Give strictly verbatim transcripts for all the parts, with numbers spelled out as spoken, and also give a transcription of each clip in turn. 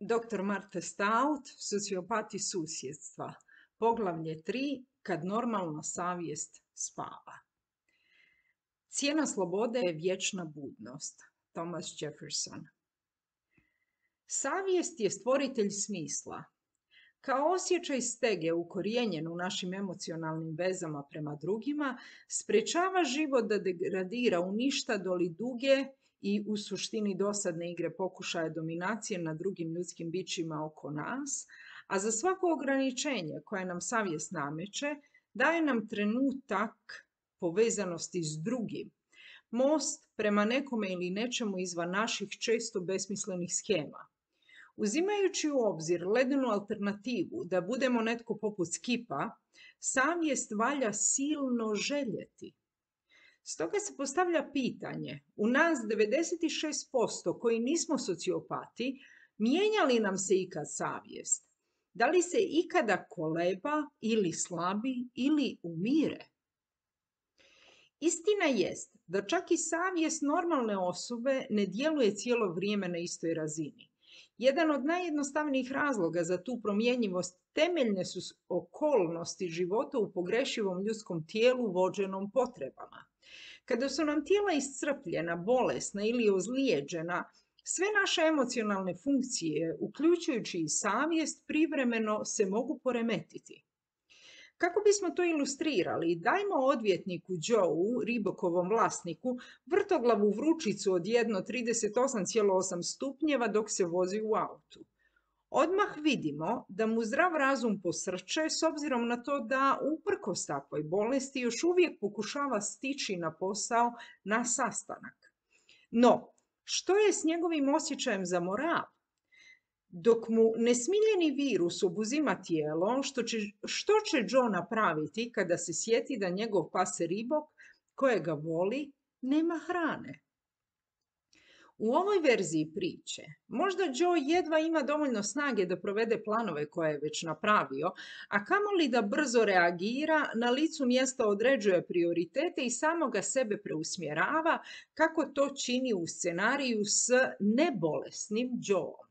doktor Martha Stout, Sociopati susjedstva, poglavlje tri, kad normalna savjest spava. Cijena slobode je vječna budnost. Thomas Jefferson. Savjest je stvoritelj smisla. Kao osjećaj stege ukorijenjen u našim emocionalnim vezama prema drugima, sprečava život da degradira u ništa doli duge i u suštini dosadne igre pokušaja dominacije nad drugim ljudskim bićima oko nas, a za svako ograničenje koje nam savjest nameće, daje nam trenutak povezanosti s drugim, most prema nekome ili nečemu izvan naših često besmislenih schema. Uzimajući u obzir ledenu alternativu da budemo netko poput Skipa, savjest valja silno željeti. Stoga se postavlja pitanje, u nas devedeset šest posto koji nismo sociopati, mijenja li nam se ikad savjest? Da li se ikada koleba ili slabi ili umire? Istina jest da čak i savjest normalne osobe ne djeluje cijelo vrijeme na istoj razini. Jedan od najjednostavnijih razloga za tu promjenjivost temeljne su okolnosti života u pogrešivom ljudskom tijelu vođenom potrebama. Kada su nam tijela iscrpljena, bolesna ili ozlijeđena, sve naše emocionalne funkcije, uključujući i savjest, privremeno se mogu poremetiti. Kako bismo to ilustrirali, dajmo odvjetniku Joe, Ribokovom vlasniku, vrtoglavu vrućicu od jedno zarez trideset osam zarez osam stupnjeva dok se vozi u autu. Odmah vidimo da mu zdrav razum posrče s obzirom na to da uprkos takvoj bolesti još uvijek pokušava stići na posao na sastanak. No, što je s njegovim osjećajem za moral? Dok mu nesmiljeni virus obuzima tijelo, što će, što će Joe napraviti kada se sjeti da njegov pas Ribok, kojega voli, nema hrane? U ovoj verziji priče, možda Joe jedva ima dovoljno snage da provede planove koje je već napravio, a kamoli da brzo reagira, na licu mjesta određuje prioritete i samoga sebe preusmjerava kako to čini u scenariju s nebolesnim Joeom.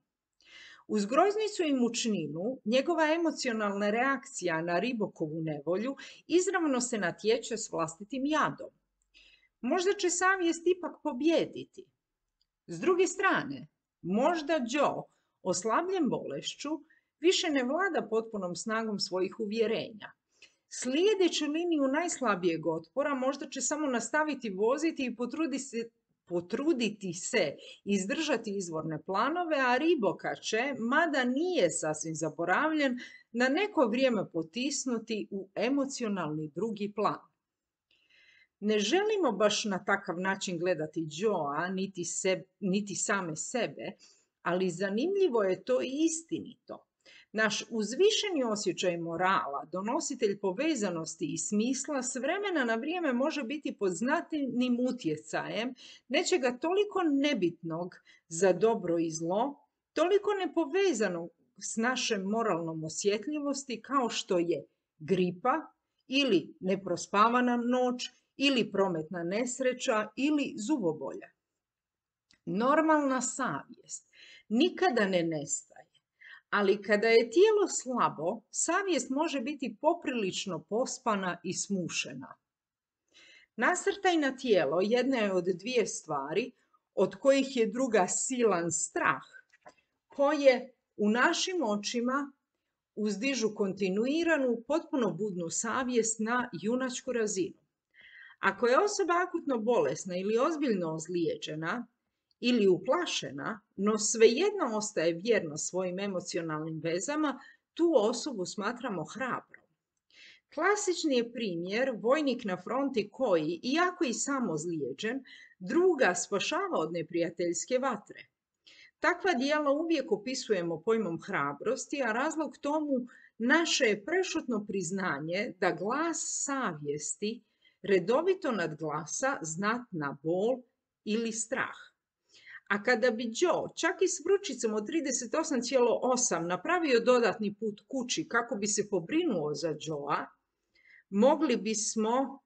Uz groznicu i mučninu, njegova emocionalna reakcija na Ribokovu nevolju izravno se natječe s vlastitim jadom. Možda će savjest ipak pobijediti. S druge strane, možda Joe, oslabljen bolešću, više ne vlada potpunom snagom svojih uvjerenja. Slijedeći liniju najslabijeg otpora možda će samo nastaviti voziti i potruditi se potruditi se izdržati izvorne planove, a Riboka će, mada nije sasvim zaboravljen, na neko vrijeme potisnuti u emocionalni drugi plan. Ne želimo baš na takav način gledati Joea, niti, se, niti same sebe, ali zanimljivo je to i istinito. Naš uzvišeni osjećaj morala, donositelj povezanosti i smisla, s vremena na vrijeme može biti pod znatnim utjecajem nečega toliko nebitnog za dobro i zlo, toliko nepovezanog s našem moralnom osjetljivosti kao što je gripa ili neprospavana noć ili prometna nesreća ili zubobolja. Normalna savjest nikada ne nestaje. Ali kada je tijelo slabo, savjest može biti poprilično pospana i smušena. Nasrtaj na tijelo jedna je od dvije stvari, od kojih je druga silan strah, koje u našim očima uzdižu kontinuiranu, potpuno budnu savjest na junačku razinu. Ako je osoba akutno bolesna ili ozbiljno ozlijeđena, ili uplašena, no svejedno ostaje vjerna svojim emocionalnim vezama, tu osobu smatramo hrabrom. Klasični je primjer vojnik na fronti koji, iako i sam ozlijeđen, druga spašava od neprijateljske vatre. Takva djela uvijek opisujemo pojmom hrabrosti, a razlog tomu naše je prešutno priznanje da glas savjesti redovito nadglasa znatna bol ili strah. A kada bi Joe čak i s vrućicom od trideset osam zarez osam napravio dodatni put kući kako bi se pobrinuo za Joea, mogli bismo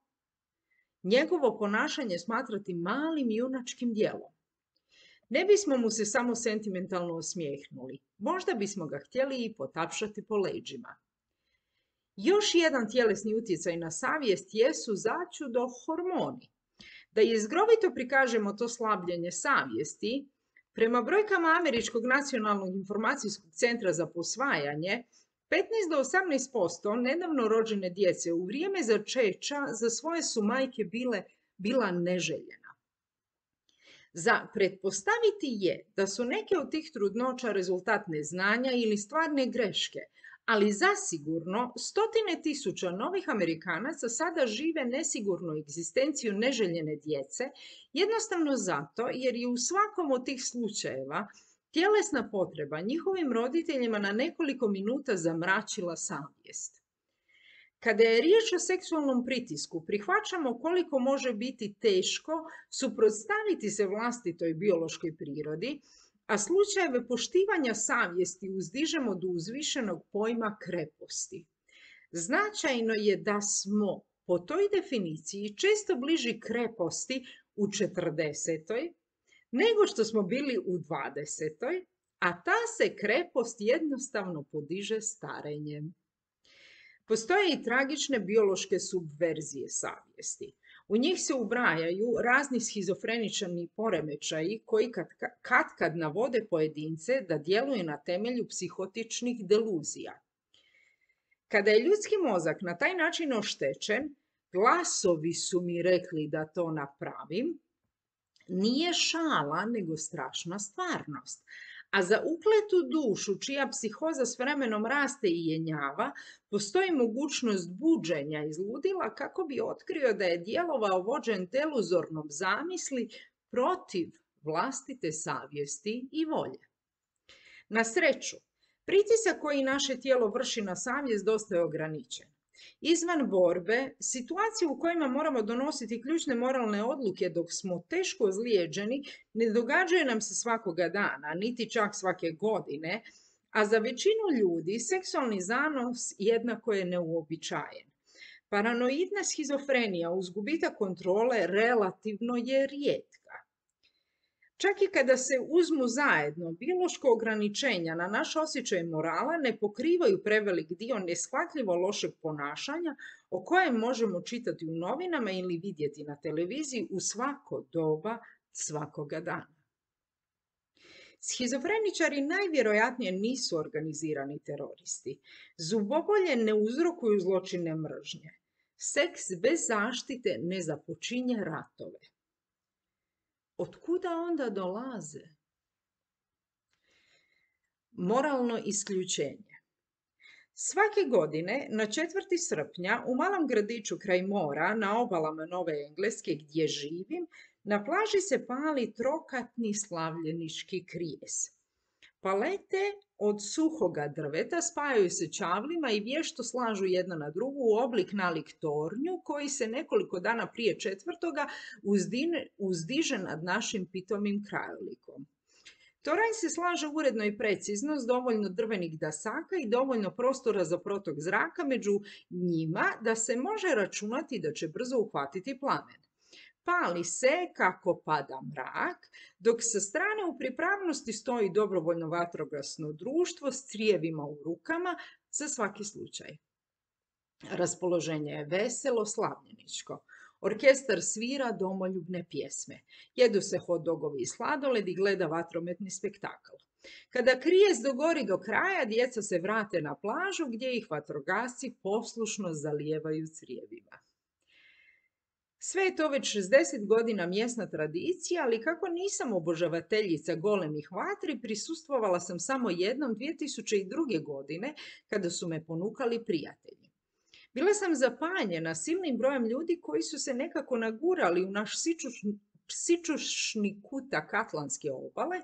njegovo ponašanje smatrati malim junačkim djelom. Ne bismo mu se samo sentimentalno osmijehnuli, možda bismo ga htjeli i potapšati po leđima. Još jedan tjelesni utjecaj na savjest jesu začudo hormoni. Da jezgrovito prikažemo to slabljenje savjesti, prema brojkama Američkog nacionalnog informacijskog centra za posvajanje, petnaest do osamnaest posto nedavno rođene djece u vrijeme začeća za svoje su majke bile, bila neželjena. Za pretpostaviti je da su neke od tih trudnoća rezultat neznanja ili stvarne greške, ali zasigurno stotine tisuća novih Amerikanaca sada žive nesigurnu egzistenciju neželjene djece, jednostavno zato jer je u svakom od tih slučajeva tjelesna potreba njihovim roditeljima na nekoliko minuta zamračila savjest. Kada je riječ o seksualnom pritisku, prihvaćamo koliko može biti teško suprotstaviti se vlastitoj biološkoj prirodi, a slučajeve poštivanja savjesti uzdižemo do uzvišenog pojma kreposti. Značajno je da smo po toj definiciji često bliži kreposti u četrdesetoj nego što smo bili u dvadesetoj, a ta se krepost jednostavno podiže starenjem. Postoje i tragične biološke subverzije savjesti. U njih se ubrajaju razni schizofrenični poremećaji koji kad, kad kad navode pojedince da djeluju na temelju psihotičnih deluzija. Kada je ljudski mozak na taj način oštećen, glasovi su mi rekli da to napravim, nije šala nego strašna stvarnost. A za ukletu dušu, čija psihoza s vremenom raste i jenjava, postoji mogućnost buđenja iz ludila kako bi otkrio da je djelovao vođen deluzornom zamisli protiv vlastite savjesti i volje. Na sreću, pritisak koji naše tijelo vrši na savjest dosta je ograničen. Izvan borbe, situacije u kojima moramo donositi ključne moralne odluke dok smo teško ozlijeđeni ne događaju nam se svakoga dana, niti čak svake godine, a za većinu ljudi seksualni zanos jednako je neuobičajen. Paranoidna schizofrenija uz gubitak kontrole relativno je rijetka. Čak i kada se uzmu zajedno, biološko ograničenja na naš osjećaj morala ne pokrivaju prevelik dio neshvatljivo lošeg ponašanja o kojem možemo čitati u novinama ili vidjeti na televiziji u svako doba svakoga dana. Schizofreničari najvjerojatnije nisu organizirani teroristi. Zubobolje ne uzrokuju zločine mržnje. Seks bez zaštite ne započinje ratove. Otkuda onda dolaze? Moralno isključenje. Svake godine na četvrti srpnja u malom gradiću kraj mora na obalama Nove Engleske gdje živim, na plaži se pali trokatni slavljenički krijes. Palete od suhoga drveta spajaju se čavlima i vješto slažu jedna na drugu u oblik nalik tornju koji se nekoliko dana prije četvrtoga uzdine, uzdiže nad našim pitomim krajolikom. Toranj se slaže uredno i precizno s dovoljno drvenih dasaka i dovoljno prostora za protok zraka među njima da se može računati da će brzo uhvatiti plamen. Pali se kako pada mrak, dok sa strane u pripravnosti stoji dobrovoljno vatrogasno društvo s crijevima u rukama za svaki slučaj. Raspoloženje je veselo, slavljeničko. Orkestar svira domoljubne pjesme. Jedu se hot dogovi i sladoled i gleda vatrometni spektakl. Kada krijes dogori do kraja, djeca se vrate na plažu gdje ih vatrogasci poslušno zalijevaju crijevima. Sve je to već šezdeset godina mjesna tradicija, ali kako nisam obožavateljica golemih vatri, prisustvovala sam samo jednom dvije tisuće druge. godine kada su me ponukali prijatelji. Bila sam zapanjena silnim brojem ljudi koji su se nekako nagurali u naš sičušni, sičušni kutak Atlantske obale.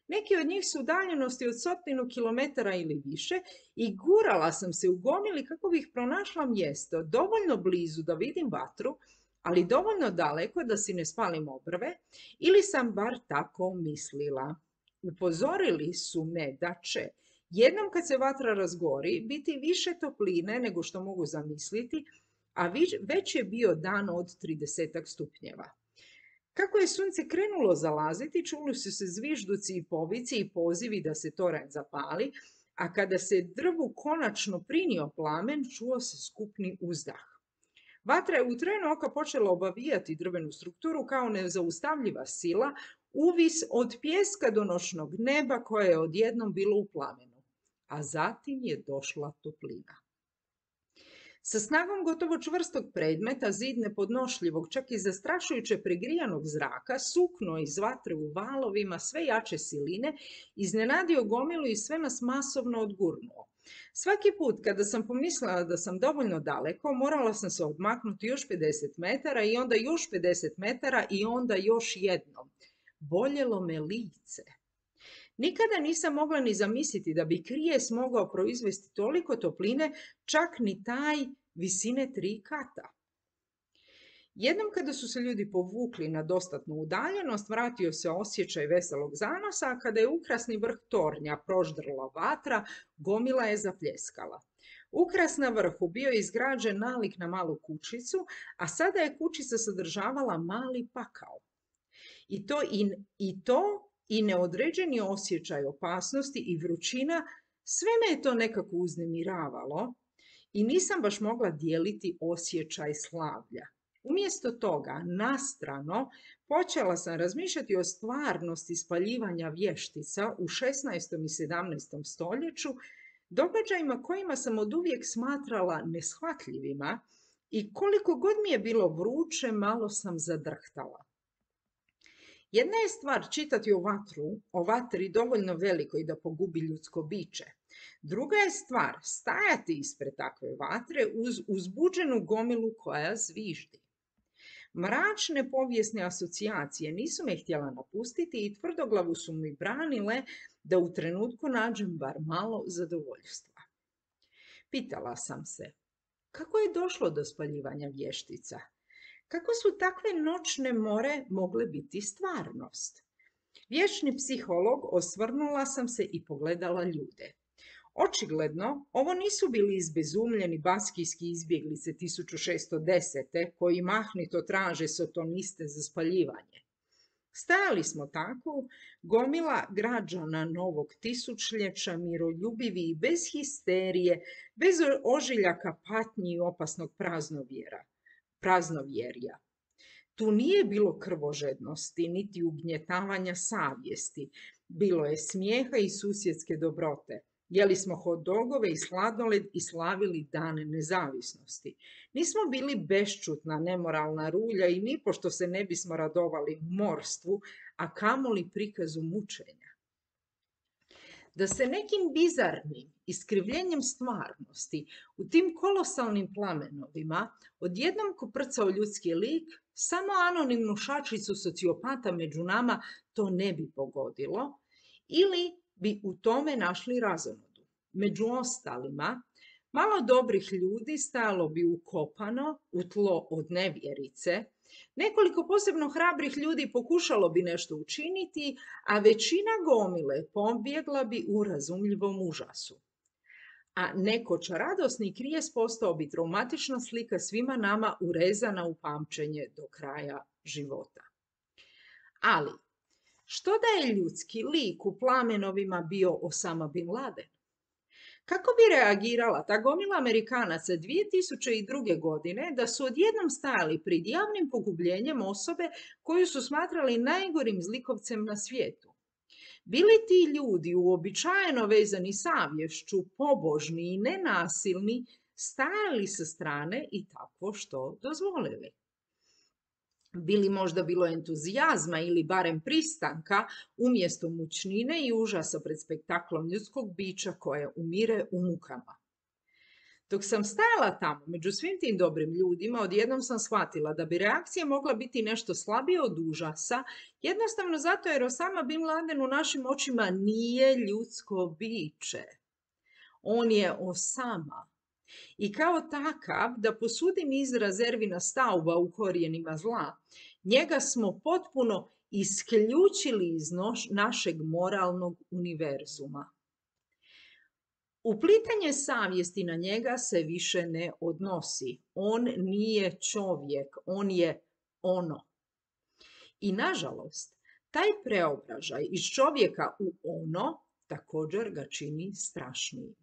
Neki od njih su udaljenosti od stotinu kilometara ili više i gurala sam se u gomili kako bih pronašla mjesto dovoljno blizu da vidim vatru, ali dovoljno daleko da si ne spalim obrve, ili sam bar tako mislila. Upozorili su me da će jednom kad se vatra razgori biti više topline nego što mogu zamisliti, a već je bio dan od trideset stupnjeva. Kako je sunce krenulo zalaziti, čuli su se zvižduci i povici i pozivi da se toranj zapali, a kada se drvu konačno prinio plamen, čuo se skupni uzdah. Vatra je u trenu oka počela obavijati drvenu strukturu kao nezaustavljiva sila, uvis od pijeska do noćnog neba koje je odjednom bilo u plamenu, a zatim je došla toplina. Sa snagom gotovo čvrstog predmeta, zid nepodnošljivog, čak i zastrašujuće pregrijanog zraka, sukno iz vatre u valovima sve jače siline, iznenadio gomilu i sve nas masovno odgurnuo. Svaki put kada sam pomislila da sam dovoljno daleko, morala sam se odmaknuti još pedeset metara i onda još pedeset metara i onda još jednom. Boljelo me lice. Nikada nisam mogla ni zamisliti da bi krijes mogao proizvesti toliko topline, čak ni taj visine tri kata. Jednom kada su se ljudi povukli na dostatnu udaljenost, vratio se osjećaj veselog zanosa, a kada je ukrasni vrh tornja proždrla vatra, gomila je zapljeskala. Ukras na vrhu bio je izgrađen nalik na malu kućicu, a sada je kućica sadržavala mali pakao. I to i, i to i neodređeni osjećaj opasnosti i vrućina, sve me je to nekako uznemiravalo i nisam baš mogla dijeliti osjećaj slavlja. Umjesto toga, nastrano, počela sam razmišljati o stvarnosti spaljivanja vještica u šesnaestom i sedamnaestom stoljeću, događajima kojima sam oduvijek smatrala neshvatljivima i koliko god mi je bilo vruće, malo sam zadrhtala. Jedna je stvar čitati o vatru, o vatri dovoljno velikoj da pogubi ljudsko biće. Druga je stvar stajati ispred takve vatre uz uzbuđenu gomilu koja zviždi. Mračne povijesne asocijacije nisu me htjela napustiti i tvrdoglavu su mi branile da u trenutku nađem bar malo zadovoljstva. Pitala sam se, kako je došlo do spaljivanja vještica? Kako su takve noćne more mogle biti stvarnost? Vječni psiholog, osvrnula sam se i pogledala ljude. Očigledno, ovo nisu bili izbezumljeni baskijski izbjeglice tisuću šesto desete koji mahnito traže sotoniste za spaljivanje. Stajali smo tako, gomila građana novog tisućljeća, miroljubivi i bez histerije, bez ožiljaka patnji i opasnog praznovjera. praznovjerja. Tu nije bilo krvožednosti, niti ugnjetavanja savjesti. Bilo je smijeha i susjedske dobrote. Jeli smo hot dogove i sladoled i slavili dan nezavisnosti. Nismo bili bešćutna, nemoralna rulja i nipošto se ne bismo radovali morstvu, a kamoli prikazu mučenja. Da se nekim bizarnim iskrivljenjem stvarnosti u tim kolosalnim plamenovima odjednom koprcao ljudski lik, samo anonimnu šačicu sociopata među nama to ne bi pogodilo ili bi u tome našli razonodu. Među ostalima, malo dobrih ljudi stajalo bi ukopano u tlo od nevjerice, nekoliko posebno hrabrih ljudi pokušalo bi nešto učiniti, a većina gomile pobjegla bi u razumljivom užasu. A nekoć radosni krijes postao bi traumatična slika svima nama urezana u pamćenje do kraja života. Ali, što da je ljudski lik u plamenovima bio Osama bin Laden? Kako bi reagirala ta gomila Amerikanaca dvije tisuće druge. godine da su odjednom stajali pred javnim pogubljenjem osobe koju su smatrali najgorim zlikovcem na svijetu? Bili ti ljudi uobičajeno vezani savješću, pobožni i nenasilni, stajali sa strane i takvo što dozvolili? Bili možda bilo entuzijazma ili barem pristanka umjesto mučnine i užasa pred spektaklom ljudskog bića koje umire u mukama. Dok sam stajala tamo među svim tim dobrim ljudima, odjednom sam shvatila da bi reakcija mogla biti nešto slabije od užasa, jednostavno zato jer Osama bin Laden u našim očima nije ljudsko biće. On je Osama. I kao takav, da posudim izraz Ervina Stauba u Korijenima zla, njega smo potpuno isključili iz noš, našeg moralnog univerzuma. Uplitanje savjesti na njega se više ne odnosi. On nije čovjek, on je ono. I nažalost, taj preobražaj iz čovjeka u ono također ga čini strašnijim.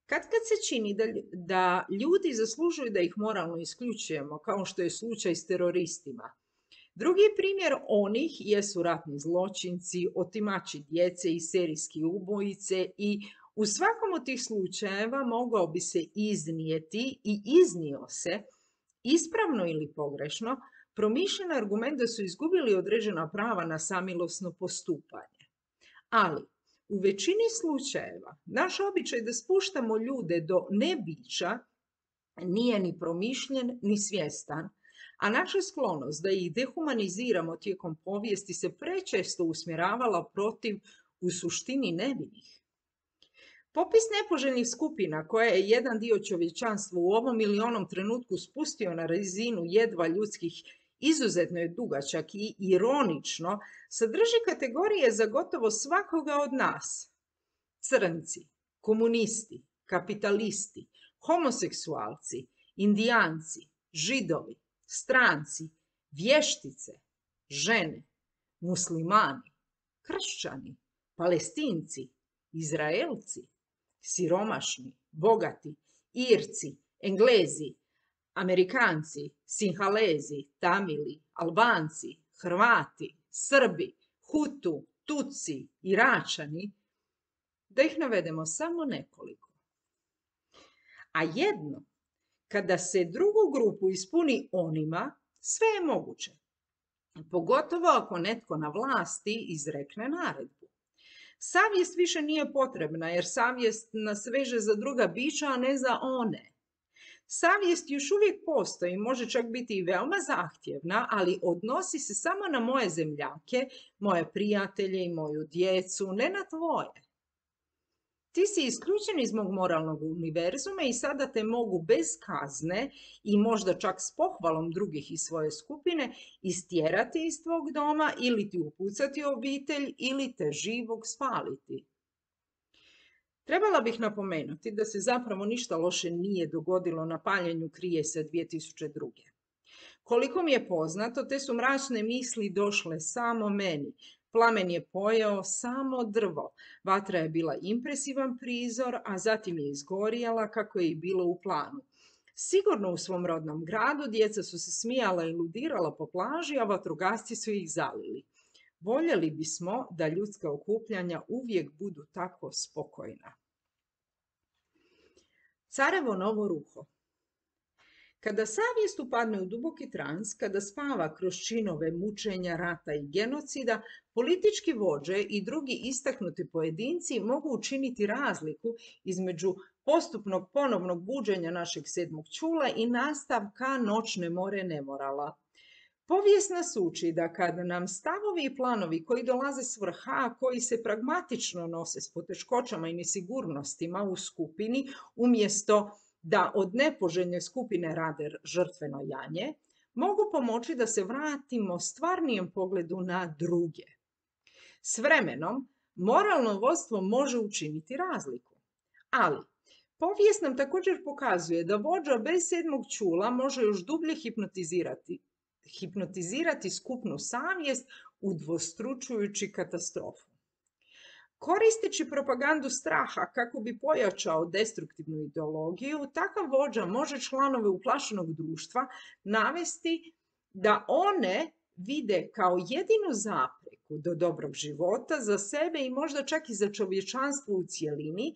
Kad kad se čini da, da ljudi zaslužuju da ih moralno isključujemo, kao što je slučaj s teroristima. Drugi primjer onih jesu ratni zločinci, otimači djece i serijski ubojice i u svakom od tih slučajeva mogao bi se iznijeti i iznio se, ispravno ili pogrešno, promišljen argument da su izgubili određena prava na samilosno postupanje. Ali, u većini slučajeva, naš običaj da spuštamo ljude do nebića nije ni promišljen ni svjestan, a naša sklonost da ih dehumaniziramo tijekom povijesti se prečesto usmjeravala protiv u suštini nevinih. Popis nepoželjnih skupina koje je jedan dio čovječanstva u ovom ili onom trenutku spustio na razinu jedva ljudskih izuzetno je dugačak i ironično sadrži kategorije za gotovo svakoga od nas. Crnci, komunisti, kapitalisti, homoseksualci, indijanci, židovi, stranci, vještice, žene, muslimani, kršćani, palestinci, Izraelci, siromašni, bogati, Irci, Englezi, Amerikanci, Sinhalezi, Tamili, Albanci, Hrvati, Srbi, Hutu, Tutsi, Iračani, da ih navedemo samo nekoliko. A jedno, kada se drugu grupu ispuni onima, sve je moguće. Pogotovo ako netko na vlasti izrekne naredbu. Savjest više nije potrebna jer savjest nas veže za druga bića, a ne za one. Savjest još uvijek postoji, može čak biti i veoma zahtjevna, ali odnosi se samo na moje zemljake, moje prijatelje i moju djecu, ne na tvoje. Ti si isključen iz mog moralnog univerzuma i sada te mogu bez kazne i možda čak s pohvalom drugih iz svoje skupine istjerati iz tvog doma ili ti upucati obitelj ili te živog spaliti. Trebala bih napomenuti da se zapravo ništa loše nije dogodilo na paljenju Krijesa dvije tisuće druge. Koliko mi je poznato, te su mračne misli došle samo meni. Plamen je pojeo samo drvo. Vatra je bila impresivan prizor, a zatim je izgorjela kako je i bilo u planu. Sigurno u svom rodnom gradu djeca su se smijala i ludirala po plaži, a vatrogasci su ih zalili. Voljeli bismo da ljudska okupljanja uvijek budu tako spokojna. Carevo novo ruho. Kada savjest upadne u duboki trans, kada spava kroz činove mučenja, rata i genocida, politički vođe i drugi istaknuti pojedinci mogu učiniti razliku između postupnog ponovnog buđenja našeg sedmog čula i nastavka noćne more nemorala. Povijest nas uči da kada nam stavovi i planovi koji dolaze s vrha, a koji se pragmatično nose s poteškoćama i nesigurnostima u skupini, umjesto da od nepoželjne skupine rade žrtveno janje, mogu pomoći da se vratimo stvarnijem pogledu na druge. S vremenom, moralno vodstvo može učiniti razliku. Ali, povijest nam također pokazuje da vođa bez sedmog čula može još dublje hipnotizirati, hipnotizirati skupnu savjest udvostručujući katastrofu. Koristeći propagandu straha kako bi pojačao destruktivnu ideologiju, takav vođa može članove uplašenog društva navesti da one vide kao jedinu zapreku do dobrog života za sebe i možda čak i za čovječanstvo u cjelini,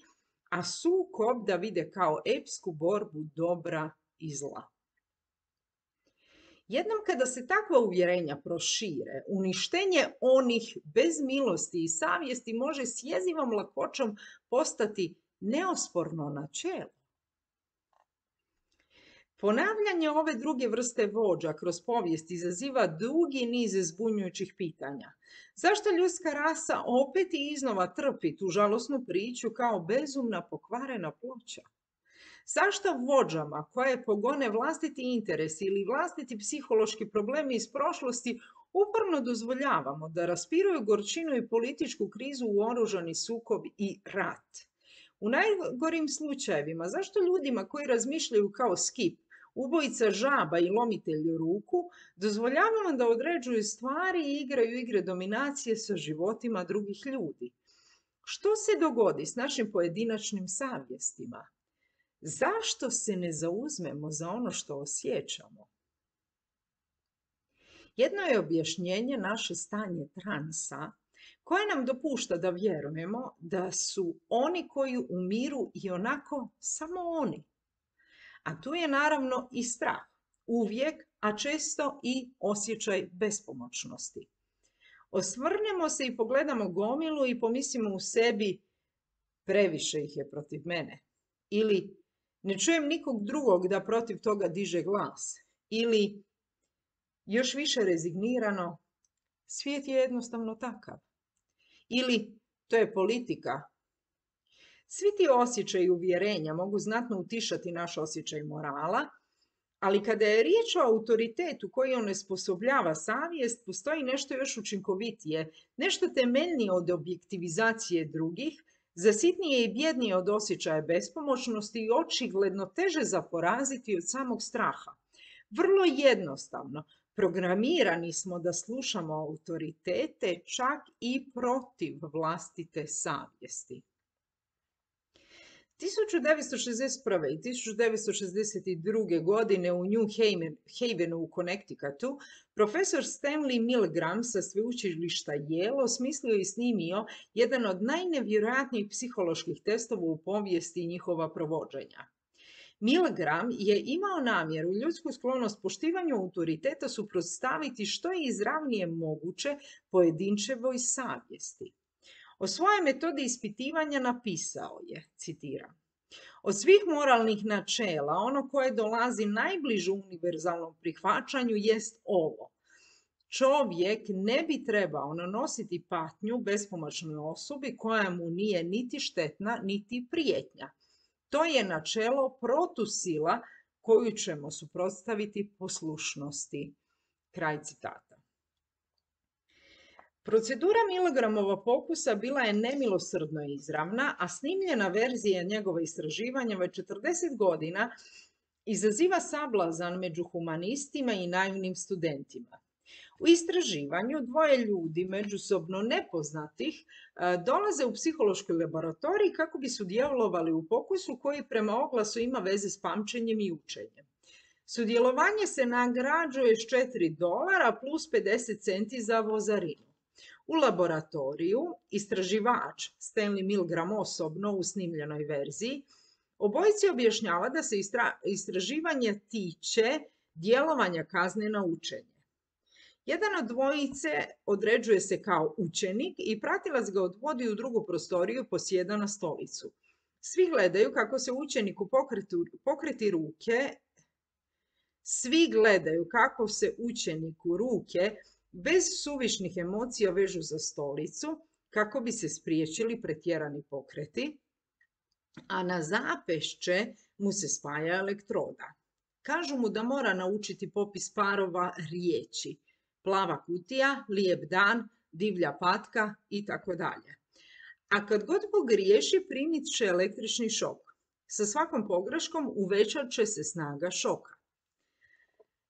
a sukob da vide kao epsku borbu dobra i zla. Jednom kada se takva uvjerenja prošire, uništenje onih bez milosti i savjesti može s jezivom lakoćom postati neosporno načelo. Ponavljanje ove druge vrste vođa kroz povijest izaziva dugi niz zbunjujućih pitanja. Zašto ljudska rasa opet i iznova trpi tu žalosnu priču kao bezumna pokvarena ploča? Zašto vođama koje pogone vlastiti interes ili vlastiti psihološki problemi iz prošlosti uporno dozvoljavamo da raspiruju gorčinu i političku krizu u oružani sukob i rat? U najgorim slučajevima, zašto ljudima koji razmišljaju kao Skip ubojica žaba i lomitelj ruku, dozvoljavamo da određuju stvari i igraju igre dominacije sa životima drugih ljudi. Što se dogodi s našim pojedinačnim savjestima? Zašto se ne zauzmemo za ono što osjećamo? Jedno je objašnjenje naše stanje transa, koje nam dopušta da vjerujemo da su oni koji umiru i onako samo oni. A tu je naravno i strah, uvijek, a često i osjećaj bespomoćnosti. Osvrnemo se i pogledamo gomilu i pomislimo u sebi, previše ih je protiv mene. Ili ne čujem nikog drugog da protiv toga diže glas. Ili još više rezignirano, svijet je jednostavno takav. Ili to je politika. Svi ti osjećaji uvjerenja mogu znatno utišati naš osjećaj morala, ali kada je riječ o autoritetu koji onesposobljava savjest, postoji nešto još učinkovitije, nešto temeljnije od objektivizacije drugih, zasitnije i bjednije od osjećaja bespomoćnosti i očigledno teže za poraziti od samog straha. Vrlo jednostavno, programirani smo da slušamo autoritete čak i protiv vlastite savjesti. tisuću devetsto šezdeset prve. i tisuću devetsto šezdeset druge. godine u New Havenu u Connecticutu profesor Stanley Milgram sa sveučilišta Yale osmislio i snimio jedan od najnevjerojatnijih psiholoških testova u povijesti njihova provođenja. Milgram je imao namjeru ljudsku sklonost poštivanju autoriteta suprotstaviti što je izravnije moguće pojedinčevoj savjesti. O svojoj metodi ispitivanja napisao je, citiram, od svih moralnih načela, ono koje dolazi najbliže univerzalnom prihvaćanju jest ovo. Čovjek ne bi trebao nanositi patnju bespomoćnoj osobi koja mu nije niti štetna, niti prijetnja. To je načelo protusila koju ćemo suprotstaviti poslušnosti. Kraj citata. Procedura Milgramova pokusa bila je nemilosrdno izravna, a snimljena verzija njegova istraživanja već četrdeset godina izaziva sablazan među humanistima i naivnim studentima. U istraživanju dvoje ljudi međusobno nepoznatih dolaze u psihološki laboratorij kako bi sudjelovali u pokusu koji prema oglasu ima veze s pamćenjem i učenjem. Sudjelovanje se nagrađuje s četiri dolara plus pedeset centi za vozarinu. U laboratoriju istraživač Stanley Milgram osobno u snimljenoj verziji obojici objašnjava da se istraživanje tiče djelovanja kazne na učenje. Jedan od dvojice određuje se kao učenik i pratilac ga odvodi u drugu prostoriju, posjeda na stolicu. Svi gledaju kako se učeniku pokreti, pokreti ruke, svi gledaju kako se učeniku ruke bez suvišnih emocija vežu za stolicu kako bi se spriječili pretjerani pokreti, a na zapešće mu se spaja elektroda. Kažu mu da mora naučiti popis parova riječi. Plava kutija, lijep dan, divlja patka i tako dalje. A kad god pogriješi, primit će električni šok. Sa svakom pogreškom uvećat će se snaga šoka.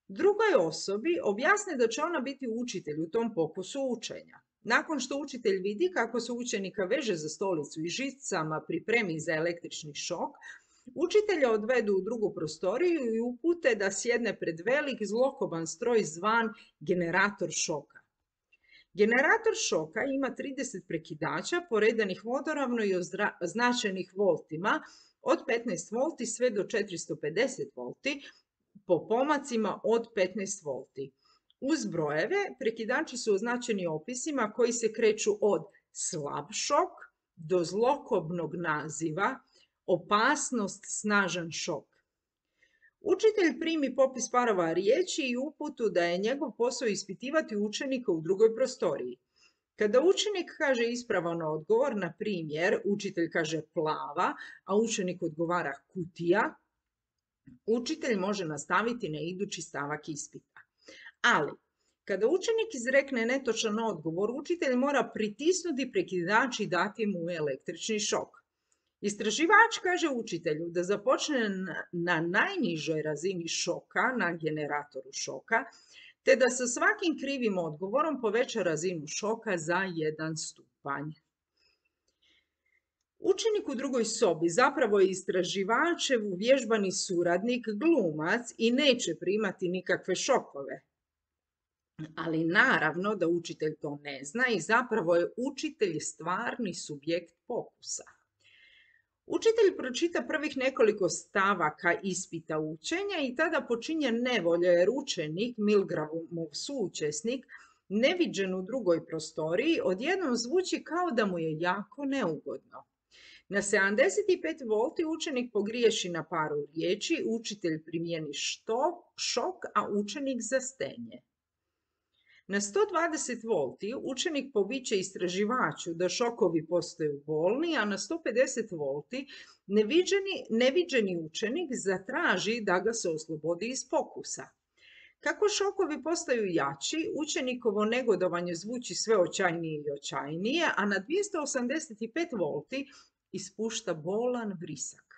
Drugoj osobi objasne da će ona biti učitelj u tom pokusu učenja. Nakon što učitelj vidi kako se učenika veže za stolicu i žicama pripremi za električni šok, učitelja odvedu u drugu prostoriju i upute da sjedne pred velik zlokoban stroj zvan generator šoka. Generator šoka ima trideset prekidača poredanih vodoravno i označenih voltima od petnaest volti sve do četiristo pedeset volti po pomacima od petnaest volti. Uz brojeve prekidači su označeni opisima koji se kreću od slab šok do zlokobnog naziva opasnost snažan šok. Učitelj primi popis parova riječi i uputu da je njegov posao ispitivati učenika u drugoj prostoriji. Kada učenik kaže ispravan odgovor, na primjer, učitelj kaže plava, a učenik odgovara kutija, učitelj može nastaviti na idući stavak ispita. Ali, kada učenik izrekne netočan odgovor, učitelj mora pritisnuti prekidač i dati mu električni šok. Istraživač kaže učitelju da započne na najnižoj razini šoka, na generatoru šoka, te da sa svakim krivim odgovorom poveća razinu šoka za jedan stupanj. Učenik u drugoj sobi zapravo je istraživačev uvježbani suradnik, glumac i neće primati nikakve šokove. Ali naravno da učitelj to ne zna i zapravo je učitelj stvarni subjekt pokusa. Učitelj pročita prvih nekoliko stavaka ispita učenja i tada počinje nevolja jer učenik, Milgramov suučesnik, neviđen u drugoj prostoriji, odjednom zvuči kao da mu je jako neugodno. Na sedamdeset pet volti učenik pogriješi na paru riječi, učitelj primijeni što, šok, a učenik zastenje. Na sto dvadeset volti učenik poviče istraživaču da šokovi postaju bolni, a na sto pedeset volti neviđeni, neviđeni učenik zatraži da ga se oslobodi iz pokusa. Kako šokovi postaju jači, učenikovo negodovanje zvuči sve očajnije i očajnije, a na dvjesto osamdeset pet volti ispušta bolan vrisak.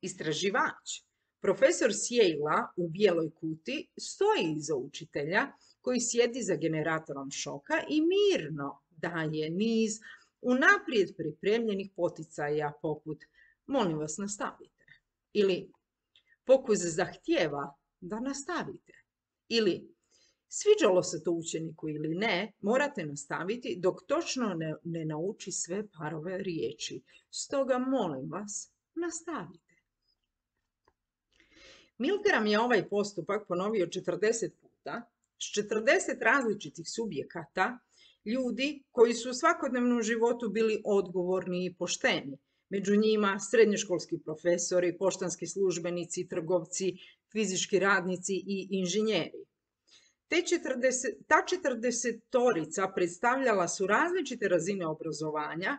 Istraživač, profesor s Yale-a u bijeloj kuti, stoji iza učitelja koji sjedi za generatorom šoka i mirno daje niz unaprijed pripremljenih poticaja poput molim vas nastavite ili pokus zahtijeva da nastavite ili sviđalo se to učeniku ili ne, morate nastaviti dok točno ne, ne nauči sve parove riječi. Stoga molim vas nastavite. Milgram je ovaj postupak ponovio četrdeset puta s četrdeset različitih subjekata, ljudi koji su u svakodnevnom životu bili odgovorni i pošteni. Među njima srednjoškolski profesori, poštanski službenici, trgovci, fizički radnici i inženjeri. Te četrdeset, ta četrdesetorica predstavljala su različite razine obrazovanja,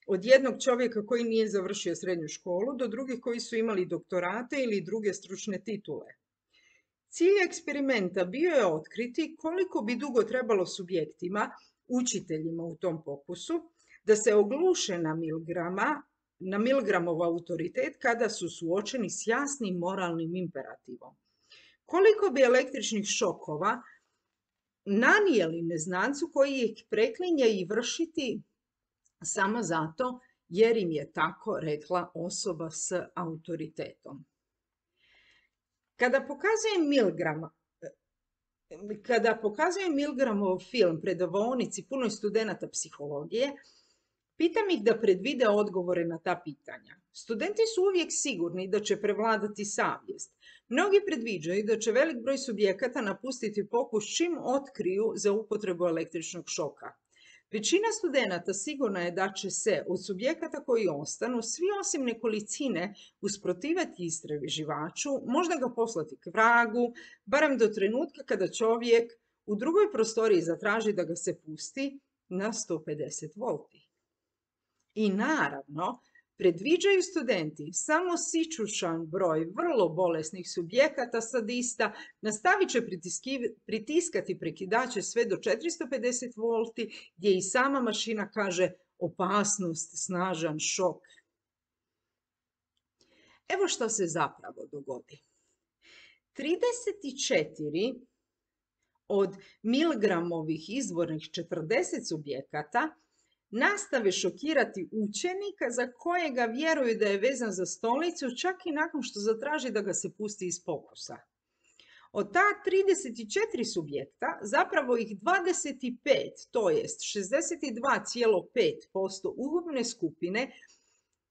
od jednog čovjeka koji nije završio srednju školu do drugih koji su imali doktorate ili druge stručne titule. Cilj eksperimenta bio je otkriti koliko bi dugo trebalo subjektima, učiteljima u tom pokusu, da se ogluše na Milgrama, na Milgramov autoritet kada su suočeni s jasnim moralnim imperativom. Koliko bi električnih šokova nanijeli neznancu koji ih preklinje i vršiti samo zato jer im je tako rekla osoba s autoritetom. Kada pokazuje Milgrama, kada pokazuje Milgramov film predavaonici punoj studenata psihologije, pitam ih da predvide odgovore na ta pitanja. Studenti su uvijek sigurni da će prevladati savjest. Mnogi predviđaju da će velik broj subjekata napustiti pokus čim otkriju za upotrebu električnog šoka. Većina studenata sigurna je da će se od subjekata koji ostanu, svi osim nekolicine, usprotivati istraživaču, možda ga poslati k vragu, barem do trenutka kada čovjek u drugoj prostoriji zatraži da ga se pusti na sto pedeset volti. I naravno, predviđaju studenti samo sićušan broj vrlo bolesnih subjekata sadista, nastavit će pritiskati prekidače sve do četiristo pedeset volti, gdje i sama mašina kaže opasnost, snažan šok. Evo što se zapravo dogodi. trideset četiri od Milgramovih izvornih četrdeset subjekata nastave šokirati učenika za kojega vjeruju da je vezan za stolicu čak i nakon što zatraži da ga se pusti iz pokusa. Od ta trideset četiri subjekta zapravo ih dvadeset pet, to jest šezdeset dva zarez pet posto ukupne skupine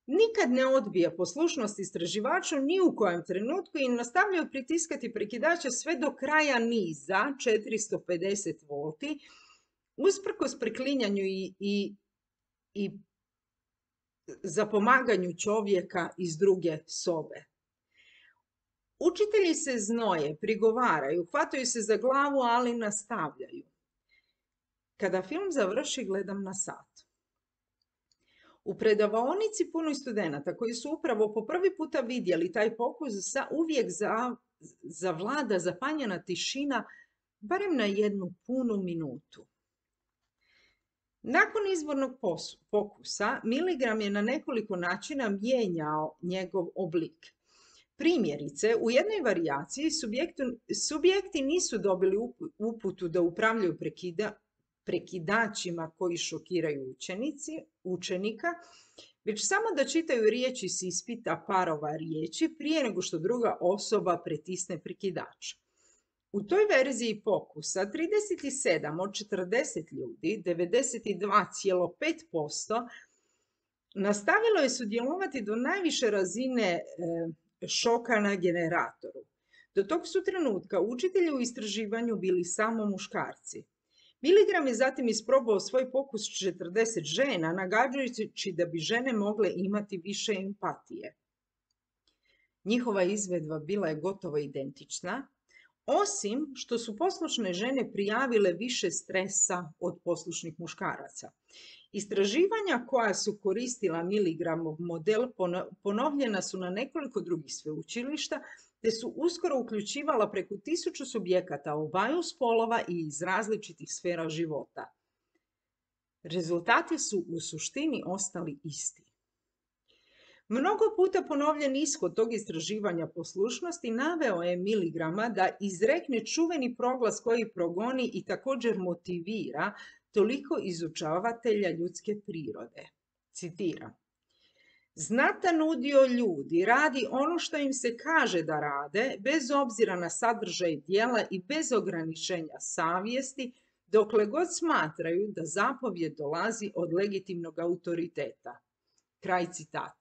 nikad ne odbija poslušnost istraživaču ni u kojem trenutku i nastavljaju pritiskati prekidače sve do kraja niza četiristo pedeset volti, usprkos preklinjanju i, i, i zapomaganju čovjeka iz druge sobe. Učitelji se znoje, prigovaraju, hvataju se za glavu, ali nastavljaju. Kada film završi, gledam na sat. U predavaonici punoj studenata koji su upravo po prvi puta vidjeli taj pokus, uvijek zavlada zapanjena tišina, barem na jednu punu minutu. Nakon izvornog pokusa, Milgram je na nekoliko načina mijenjao njegov oblik. Primjerice, u jednoj varijaciji subjekti nisu dobili uputu da upravljaju prekida, prekidačima koji šokiraju učenici, učenika, već samo da čitaju riječi s ispita parova riječi prije nego što druga osoba pritisne prekidač. U toj verziji pokusa trideset sedam od četrdeset ljudi, devedeset dva zarez pet posto, nastavilo je sudjelovati do najviše razine e, šoka na generatoru. Do tog su trenutka učitelji u istraživanju bili samo muškarci. Milgram je zatim isprobao svoj pokus s četrdeset žena, nagađajući da bi žene mogle imati više empatije. Njihova izvedba bila je gotovo identična, osim što su poslušne žene prijavile više stresa od poslušnih muškaraca. Istraživanja koja su koristila Milgramov model ponovljena su na nekoliko drugih sveučilišta, te su uskoro uključivala preko tisuću subjekata obaju spolova i iz različitih sfera života. Rezultati su u suštini ostali isti. Mnogo puta ponovljen ishod tog istraživanja poslušnosti naveo je Milgrama da izrekne čuveni proglas koji progoni i također motivira toliko izučavatelja ljudske prirode. Citiram: znatan udio ljudi radi ono što im se kaže da rade, bez obzira na sadržaj djela i bez ograničenja savjesti, dokle god smatraju da zapovjed dolazi od legitimnog autoriteta. Kraj citata.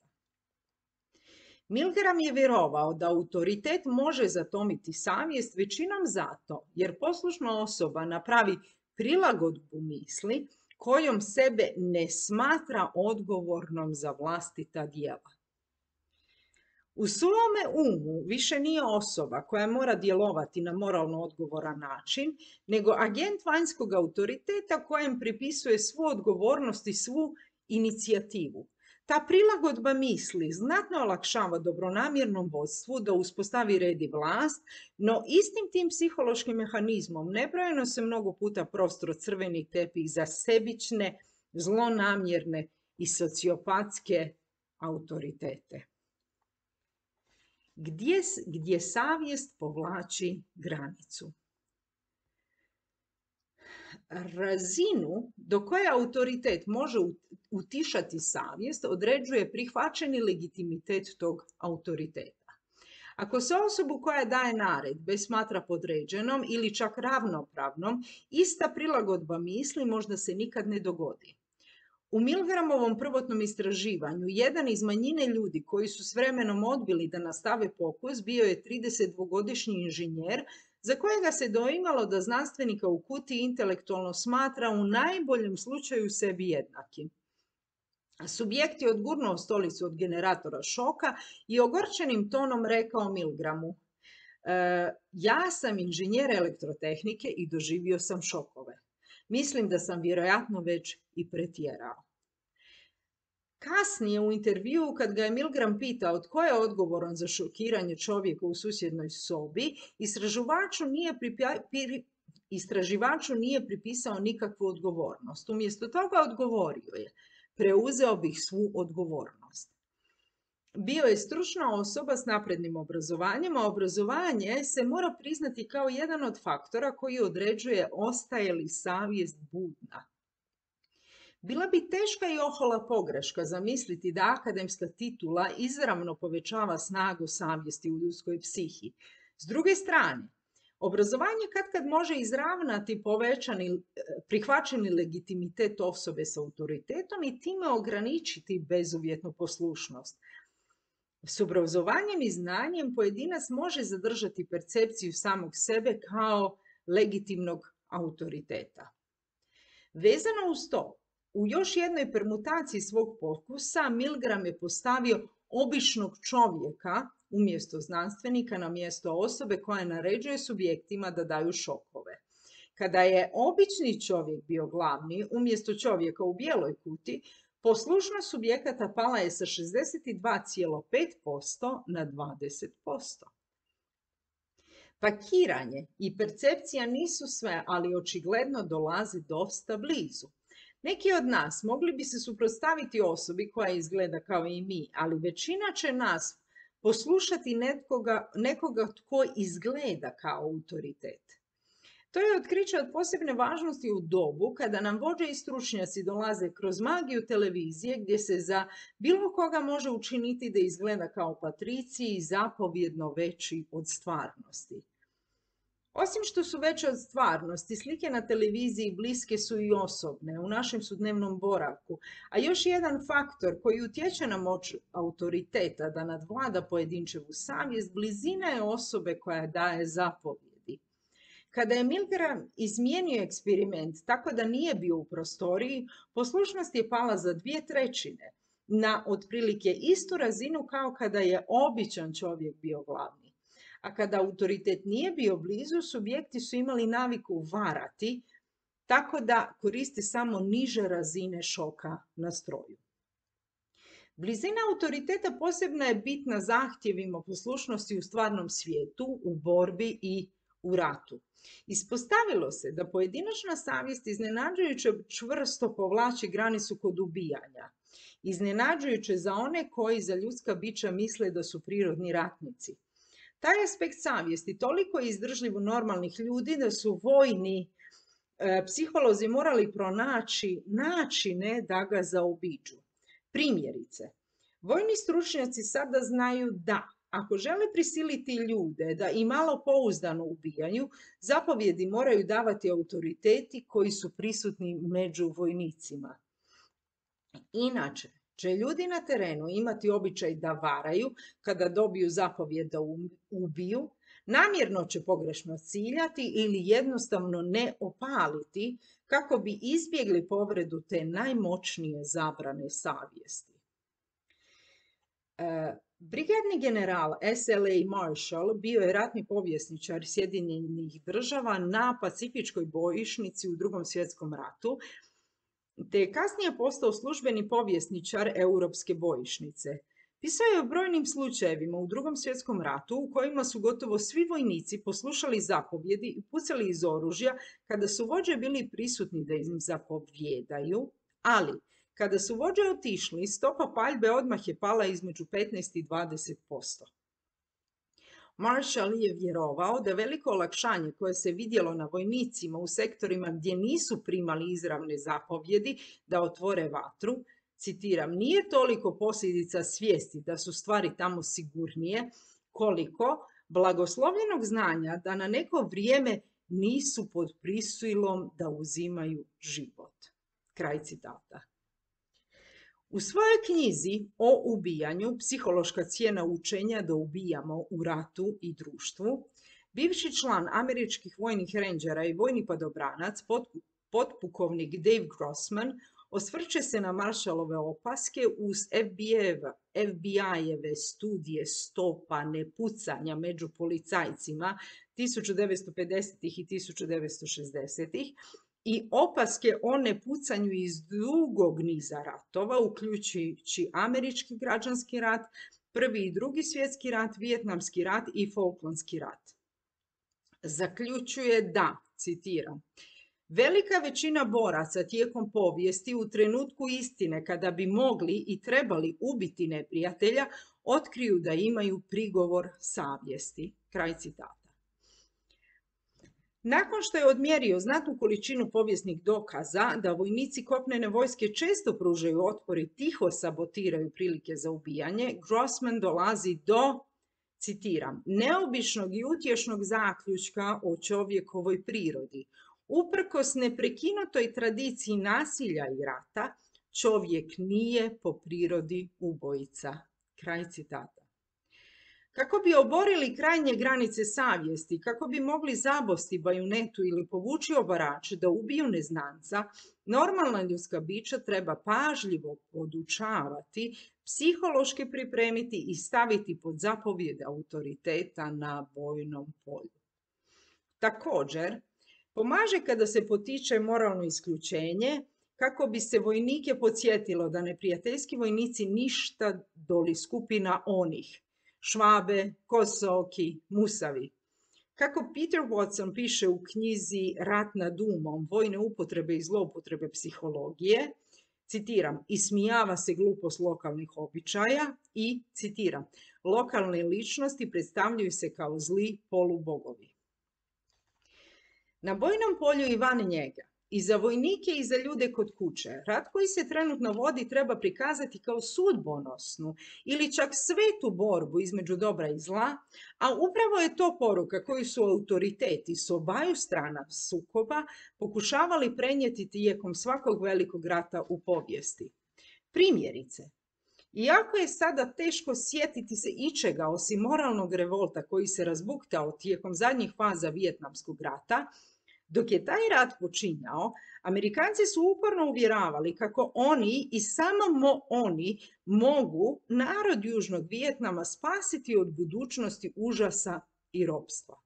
Milgram je vjerovao da autoritet može zatomiti savjest većinom zato jer poslušna osoba napravi prilagodbu misli kojom sebe ne smatra odgovornom za vlastita djela. U svome umu više nije osoba koja mora djelovati na moralno odgovoran način, nego agent vanjskog autoriteta kojem pripisuje svu odgovornost i svu inicijativu. Ta prilagodba misli znatno olakšava dobronamjernom vodstvu da uspostavi red i vlast, no istim tim psihološkim mehanizmom nebrojeno se mnogo puta prostro crveni tepih za sebične, zlonamjerne i sociopatske autoritete. Gdje, gdje savjest povlači granicu? Razinu do koje autoritet može utišati savjest određuje prihvaćeni legitimitet tog autoriteta. Ako se osobu koja daje naredbe smatra podređenom ili čak ravnopravnom, ista prilagodba misli možda se nikad ne dogodi. U Milgramovom prvotnom istraživanju jedan iz manjine ljudi koji su s vremenom odbili da nastave pokus bio je tridesetdvogodišnji inženjer za kojega se doimalo da znanstvenika u kutiji intelektualno smatra u najboljem slučaju sebi jednakim. Subjekt je odgurnuo stolicu od generatora šoka i ogorčenim tonom rekao Milgramu: e, ja sam inženjer elektrotehnike i doživio sam šokove. Mislim da sam vjerojatno već i pretjerao. Kasnije u intervjuu, kad ga je Milgram pitao tko je odgovoran za šokiranje čovjeka u susjednoj sobi, istraživaču nije, pripi, istraživaču nije pripisao nikakvu odgovornost. Umjesto toga odgovorio je: preuzeo bih svu odgovornost. Bio je stručna osoba s naprednim obrazovanjem, a obrazovanje se mora priznati kao jedan od faktora koji određuje ostaje li savjest budna. Bila bi teška i ohola pogreška zamisliti da akademska titula izravno povećava snagu savjesti u ljudskoj psihi. S druge strane, obrazovanje katkad može izravnati povećani, prihvaćeni legitimitet osobe s autoritetom i time ograničiti bezuvjetnu poslušnost. S obrazovanjem i znanjem pojedinac može zadržati percepciju samog sebe kao legitimnog autoriteta. Vezano uz to, u još jednoj permutaciji svog pokusa Milgram je postavio običnog čovjeka umjesto znanstvenika na mjesto osobe koja naređuje subjektima da daju šokove. Kada je obični čovjek bio glavni umjesto čovjeka u bijeloj kuti, poslušnost subjekata pala je sa šezdeset dva zarez pet posto na dvadeset posto. Pakiranje i percepcija nisu sve, ali očigledno dolazi dosta blizu. Neki od nas mogli bi se suprotstaviti osobi koja izgleda kao i mi, ali većina će nas poslušati nekoga, nekoga tko izgleda kao autoritet. To je otkriće od posebne važnosti u dobu kada nam vođe i stručnjaci dolaze kroz magiju televizije gdje se za bilo koga može učiniti da izgleda kao patriciji i zapovjedno veći od stvarnosti. Osim što su veće od stvarnosti, slike na televiziji bliske su i osobne u našem sudnevnom boravku, a još jedan faktor koji utječe na moć autoriteta da nadvlada pojedinčevu savjest, blizina je osobe koja daje zapovjedi. Kada je Milgram izmijenio eksperiment tako da nije bio u prostoriji, poslušnost je pala za dvije trećine, na otprilike istu razinu kao kada je običan čovjek bio glavni. A kada autoritet nije bio blizu, subjekti su imali naviku varati, tako da koriste samo niže razine šoka na stroju. Blizina autoriteta posebno je bitna zahtjevima poslušnosti u stvarnom svijetu, u borbi i u ratu. Ispostavilo se da pojedinačna savjest iznenađujuće čvrsto povlači granicu kod ubijanja. Iznenađujuće za one koji za ljudska bića misle da su prirodni ratnici. Taj aspekt savjesti toliko je izdržljiv u normalnih ljudi da su vojni e, psiholozi morali pronaći načine da ga zaobiđu. Primjerice, vojni stručnjaci sada znaju da ako žele prisiliti ljude da i malo pouzdano ubijaju, zapovjedi moraju davati autoriteti koji su prisutni među vojnicima. Inače, će ljudi na terenu imati običaj da varaju kada dobiju zapovjed da ubiju, namjerno će pogrešno ciljati ili jednostavno ne opaliti kako bi izbjegli povredu te najmoćnije zabrane savjesti. E, Brigadni general S L A Marshall bio je ratni povjesničar Sjedinjenih država na Pacifičkoj bojišnici u Drugom svjetskom ratu, te je kasnije postao službeni povjesničar Europske bojišnice. Pisao je o brojnim slučajevima u Drugom svjetskom ratu u kojima su gotovo svi vojnici poslušali zapovjedi i pucali iz oružja kada su vođe bili prisutni da im zapovjedaju, ali kada su vođe otišli, stopa paljbe odmah je pala između petnaest i dvadeset posto. Marshall je vjerovao da veliko olakšanje koje se vidjelo na vojnicima u sektorima gdje nisu primali izravne zapovjedi da otvore vatru, citiram, nije toliko posljedica svijesti da su stvari tamo sigurnije, koliko blagoslovljenog znanja da na neko vrijeme nisu pod prisilom da uzimaju život. Kraj citata. U svojoj knjizi o ubijanju, Psihološka cijena učenja da ubijamo u ratu i društvu, bivši član američkih vojnih rendžera i vojni padobranac, potpukovnik Dave Grossman, osvrće se na Marshallove opaske uz F B I-eve studije stopa nepucanja među policajcima tisuću devetsto pedesetih i tisuću devetsto šezdesetih i opaske o nepucanju iz dugog niza ratova, uključujući američki građanski rat, prvi i drugi svjetski rat, vijetnamski rat i Falklandski rat. Zaključuje da, citiram, velika većina boraca tijekom povijesti u trenutku istine kada bi mogli i trebali ubiti neprijatelja, otkriju da imaju prigovor savjesti. Kraj citata. Nakon što je odmjerio znatnu količinu povijesnih dokaza da vojnici kopnene vojske često pružaju otpor i tiho sabotiraju prilike za ubijanje, Grossman dolazi do, citiram, neobičnog i utješnog zaključka o čovjekovoj prirodi. Uprkos neprekinutoj tradiciji nasilja i rata, čovjek nije po prirodi ubojica. Kraj citata. Kako bi oborili krajnje granice savjesti, kako bi mogli zabosti bajonetu ili povući obarač da ubiju neznanca, normalna ljudska bića treba pažljivo podučavati, psihološki pripremiti i staviti pod zapovjed autoriteta na bojnom polju. Također, pomaže kada se potiče moralno isključenje, kako bi se vojnike podsjetilo da neprijateljski vojnici ništa doli skupina onih, Švabe, Kosoki, Musavi. Kako Peter Watson piše u knjizi Rat nad umom, vojne upotrebe i zloupotrebe psihologije, citiram, ismijava se glupost lokalnih običaja i, citiram, lokalne ličnosti predstavljaju se kao zli polubogovi. Na bojnom polju i van njega, i za vojnike i za ljude kod kuće, rat koji se trenutno vodi treba prikazati kao sudbonosnu ili čak svetu borbu između dobra i zla, a upravo je to poruka koju su autoriteti s obaju strana sukoba pokušavali prenijeti tijekom svakog velikog rata u povijesti. Primjerice, iako je sada teško sjetiti se ičega osim moralnog revolta koji se razbuktao tijekom zadnjih faza Vijetnamskog rata, dok je taj rat počinjao, Amerikanci su uporno uvjeravali kako oni i samo oni mogu narod Južnog Vijetnama spasiti od budućnosti užasa i ropstva.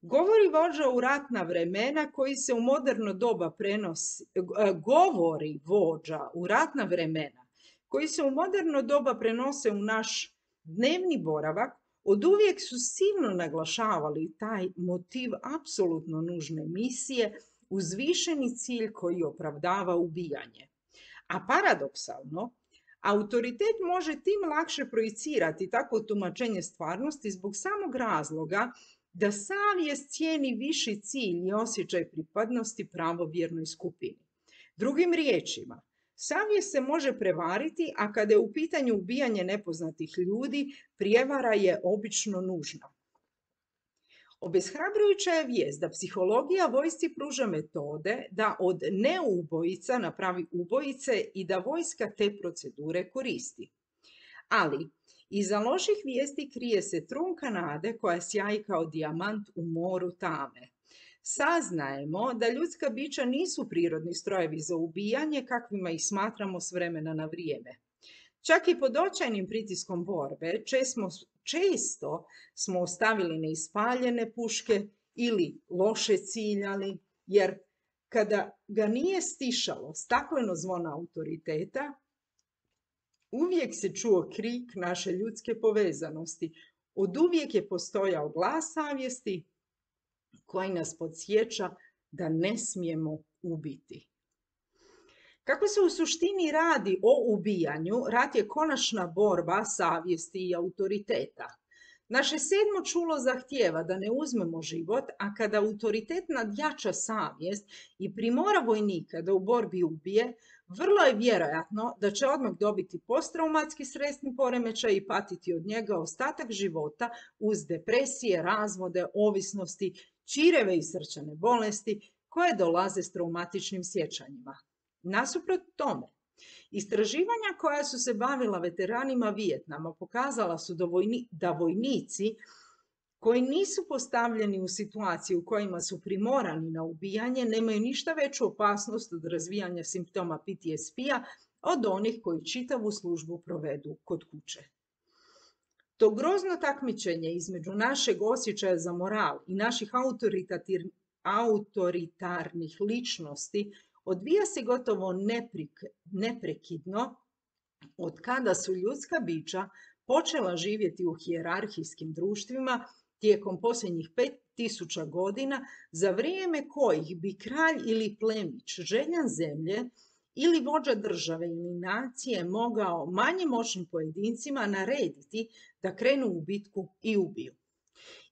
Govori vođa u ratna vremena koji se u moderno doba prenosi, govori vođa u ratna vremena koji se u moderno doba prenose u naš dnevni boravak, oduvijek su silno naglašavali taj motiv apsolutno nužne misije, uzvišeni cilj koji opravdava ubijanje. A paradoksalno, autoritet može tim lakše projicirati takvo tumačenje stvarnosti zbog samog razloga da savjest cijeni viši cilj i osjećaj pripadnosti pravovjernoj skupini. Drugim riječima, savjest se može prevariti, a kada je u pitanju ubijanje nepoznatih ljudi, prijevara je obično nužna. Obeshrabrujuća je vijest da psihologija vojsci pruža metode da od neubojica napravi ubojice i da vojska te procedure koristi. Ali iza loših vijesti krije se trunka nade koja sjaji kao dijamant u moru tame. Saznajemo da ljudska bića nisu prirodni strojevi za ubijanje kakvima ih smatramo s vremena na vrijeme. Čak i pod očajnim pritiskom borbe često, često smo ostavili neispaljene puške ili loše ciljali, jer kada ga nije stišalo stakleno zvono autoriteta, uvijek se čuo krik naše ljudske povezanosti. Oduvijek je postojao glas savjesti koji nas podsjeća da ne smijemo ubiti. Kako se u suštini radi o ubijanju, rat je konačna borba savjesti i autoriteta. Naše sedmo čulo zahtijeva da ne uzmemo život, a kada autoritet nadjača savjest i primora vojnika da u borbi ubije, vrlo je vjerojatno da će odmah dobiti posttraumatski stresni poremećaj i patiti od njega ostatak života uz depresije, razvode, ovisnosti, čireve i srčane bolesti koje dolaze s traumatičnim sjećanjima. Nasuprot tome, istraživanja koja su se bavila veteranima Vijetnama pokazala su da, vojni, da vojnici koji nisu postavljeni u situaciji u kojima su primorani na ubijanje nemaju ništa veću opasnost od razvijanja simptoma P T S P-a od onih koji čitavu službu provedu kod kuće. To grozno takmičenje između našeg osjećaja za moral i naših autoritarnih ličnosti odvija se gotovo neprekidno od kada su ljudska bića počela živjeti u hijerarhijskim društvima tijekom posljednjih pet tisuća godina, za vrijeme kojih bi kralj ili plemić, željan zemlje ili vođa države ili nacije mogao manje moćnim pojedincima narediti da krenu u bitku i ubiju.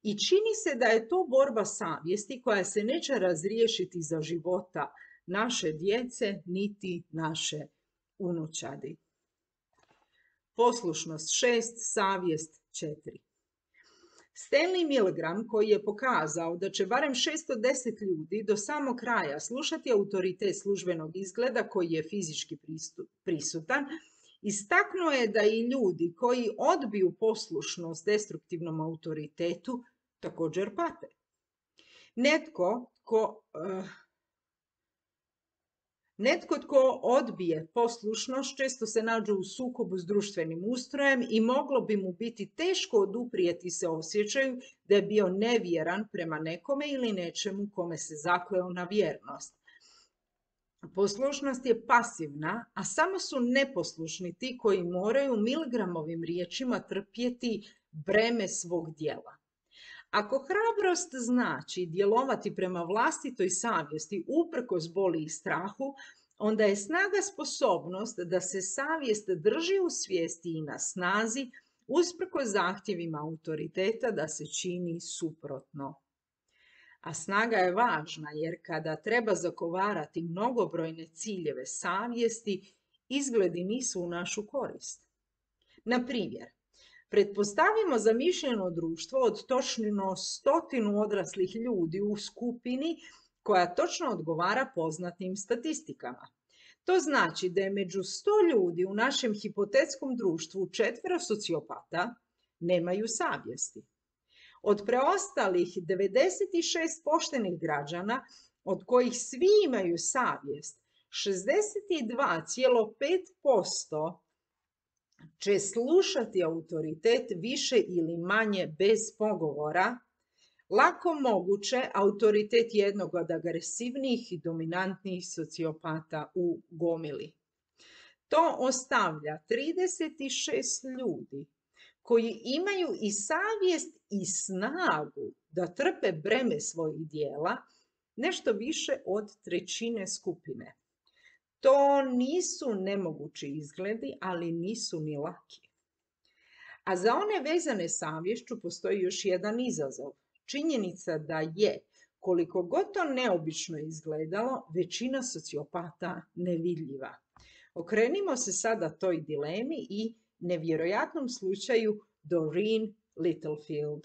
I čini se da je to borba savjesti koja se neće razriješiti za života naše djece niti naše unučadi. Poslušnost šest, savjest četiri. Stanley Milgram, koji je pokazao da će barem šesto deset ljudi do samog kraja slušati autoritet službenog izgleda koji je fizički prisutan, istaknuo je da i ljudi koji odbiju poslušnost destruktivnom autoritetu također pate. Netko ko... Uh, Netko tko odbije poslušnost često se nađe u sukobu s društvenim ustrojem i moglo bi mu biti teško oduprijeti se osjećaju da je bio nevjeran prema nekome ili nečemu kome se zakleo na vjernost. Poslušnost je pasivna, a samo su neposlušni ti koji moraju Milgramovim riječima trpjeti breme svog djela. Ako hrabrost znači djelovati prema vlastitoj savjesti uprkos boli i strahu, onda je snaga sposobnost da se savjest drži u svijesti i na snazi, usprkos zahtjevima autoriteta da se čini suprotno. A snaga je važna jer kada treba zagovarati mnogobrojne ciljeve savjesti, izgledi nisu u našu korist. Na primjer, pretpostavimo zamišljeno društvo od točno stotinu odraslih ljudi u skupini koja točno odgovara poznatim statistikama. To znači da je među sto ljudi u našem hipotetskom društvu četvero sociopata, nemaju savjesti. Od preostalih devedeset šest poštenih građana, od kojih svi imaju savjest, šezdeset dva zarez pet posto će slušati autoritet više ili manje bez pogovora, lako moguće autoritet jednog od agresivnijih i dominantnijih sociopata u gomili. To ostavlja trideset šest ljudi koji imaju i savjest i snagu da trpe breme svojih dijela, nešto više od trećine skupine. To nisu nemogući izgledi, ali nisu ni laki. A za one vezane savješću postoji još jedan izazov. Činjenica da je, koliko god to neobično izgledalo, većina sociopata nevidljiva. Okrenimo se sada toj dilemi i nevjerojatnom slučaju Doreen Littlefield.